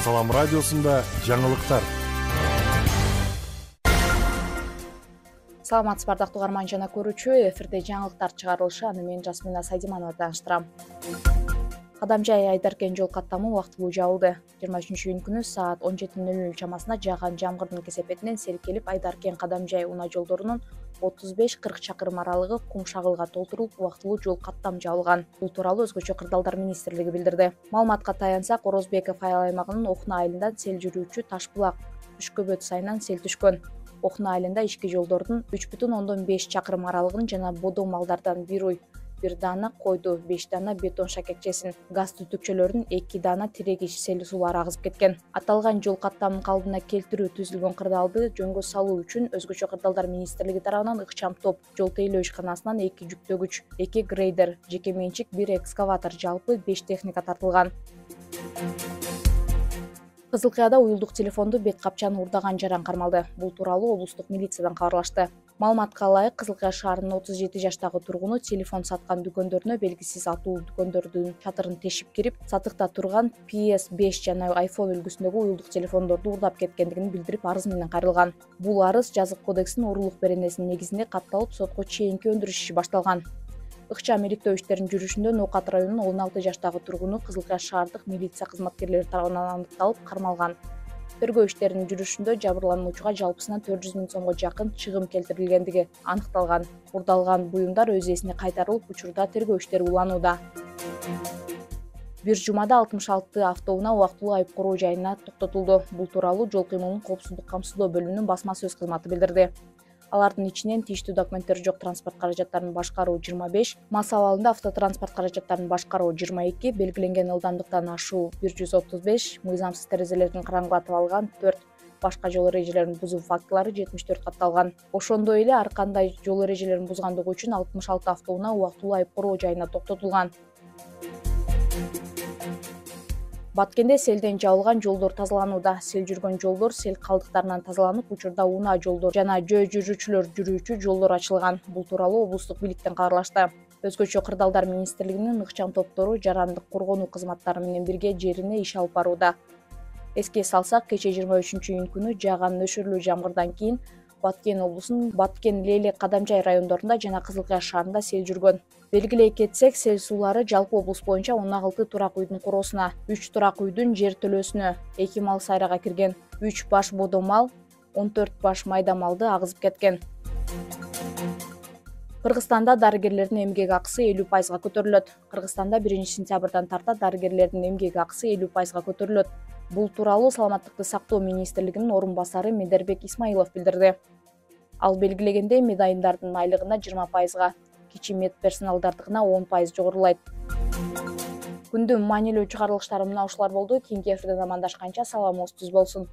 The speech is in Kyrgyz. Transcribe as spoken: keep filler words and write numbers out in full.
Салам радиосунда жаңылыктар. Саламатсыз бардактуу угарман жана көрүүчү, эфирде жаңылыктар чыгарылышы, аны мен Жасмина Сайдиманова тааныштырам. Кадамжай Айдаркен жол каттамы убактылуу жабылды. жыйырма үчүнчү июнь күнү саат он жети нөл нөл чамасында жааган жамгырдын кесепетинен сел келип Айдаркен Кадамжай унаа жолдорунун отуз беш кырк чакырым аралыгы кум шагылга толтурулуп, убактылуу жол каттам жабылган. Бул тууралуу Өзгөчө кырдаалдар министрлиги билдирди. Маалыматка таянсак, Орозбеков айыл аймагынын Окуна айылынан сел жүрүүчү Ташбулак Түшкөбөт сайынан сел түшкөн. Окуна айылында ички жолдордун үч бүтүн ондон беш чакырым аралыгын жана бодо малдардан бир уй, бир даана койду, беш даана бетон шакекчесин, газ түтүкчөлөрдүн эки даана тирегич сел сулары агызып кеткен. Аталган жол каттамын калыбына келтирүү түзүлгөн кырдаалды жөнгө салуу үчүн Өзгөчө кырдаалдар министрлиги тарабынан ыкчам топ, жол тейлөө ишканасынан эки жүктөгүч, эки грейдер, жеке менчик бир экскаватор, жалпы беш техника тартылган. Кызыл Кыяда уюлдук телефонду бет капчаны урдаган жаран кармалды. Бул тууралуу облустук милициядан кабарлашты. Маалыматка ылайык, Кызыл Кыя шаарынын отуз жети жаштагы тургуну телефон саткан дүкөндөрүнө белгисиз атуу дүкөндөрдүн чатырын тешип кирип, сатыкта турган пи эс беш жана айфон үлгүсүндөгү уюлдук телефондорду урдап кеткендигин билдирип, арыз менен кайрылган. Бул арыз Жазык кодексинин уруулук беренесинин негизинде катталып, сотко чейинки өндүрүш иши башталган. Ыкчам иликтөө иштеринин жүрүшүндө Ноокат районунун он алты жаштагы тургуну Кызыл Кыя шаардык милиция кызматкерлери тарабынан аныкталып, кармалган. Тергөө иштеринин жүрүшүндө жабырлануучуга жалпысынан төрт жүз миң сомго жакын чыгым келтирилгендиги аныкталган. Урдалган буюмдар өз ээсине кайтарылып, учурда тергөө иштери уланууда. Бир жумада алтымыш алты автоунаа убактылуу айып короо жайына токтотулду. Бул тууралуу Жол кыймылын коопсуздук камсыздоо бөлүмүнүн басма сөз кызматы билдирди. Алардын ичинен тийиштүү документтери жок транспорт каражаттарын башкаруу жыйырма беш, мас абалында автотранспорт каражаттарын башкаруу жыйырма эки, белгиленген ылдамдыктан ашуу бир жүз отуз беш, мыйзамсыз терезелерин караңгылатып алган төрт, башка жол эрежелерин бузуу фактылары жетимиш төрт катталган. Ошондой эле ар кандай жол эрежелерин бузгандыгы үчүн алтымыш алты автоунаа убактылуу айып короо жайына токтотулган. Баткенде селден жабылган жолдор тазаланууда. Сел жүргөн жолдор сел калдыктарынан тазаланып, учурда унаа жолдор жана жөө жүрүүчүлөр жүрүүчү жолдор ачылган. Бул тууралуу облустук бийликтен кабарлашты. Өзгөчө кырдаалдар министрлигинин ыкчам топтору жарандык коргонуу кызматтары менен бирге жерине иш алып барууда. Эске салсак, кечээ жыйырма үчүнчү июнь күнү жааган нөшөрлүү жамгырдан кийин Баткен облусунун Баткен, Лелек, Кадамжай райондорунда жана Кызыл Кыя шаарында сел жүргөн. Белгилей кетсек, сел суулары жалпы облус боюнча он алты турак үйдүн куроосуна, үч турак үйдүн жер төлөөсүнө, эки мал сайрага кирген, үч баш бодо мал, он төрт баш майда малды агызып кеткен. Кыргызстанда дарыгерлердин эмгек акысы элүү пайызга көтөрүлөт. Кыргызстанда биринчи сентябрдан тарта дарыгерлердин эмгек акысы элүү пайызга көтөрүлөт. Бул тууралуу Саламаттыкты сактоо министрлигинин орун басары Медербек Исмаилов билдирди. Ал белгилегендей, медайымдардын айлыгына жыйырма пайызга, кичи медперсоналдардыкына он пайыз жогорулайт. Күндүн маанилүү чыгарылыштары мына ушулар болду. Кийинки эфирден амандашканча саламыңыз түз болсун.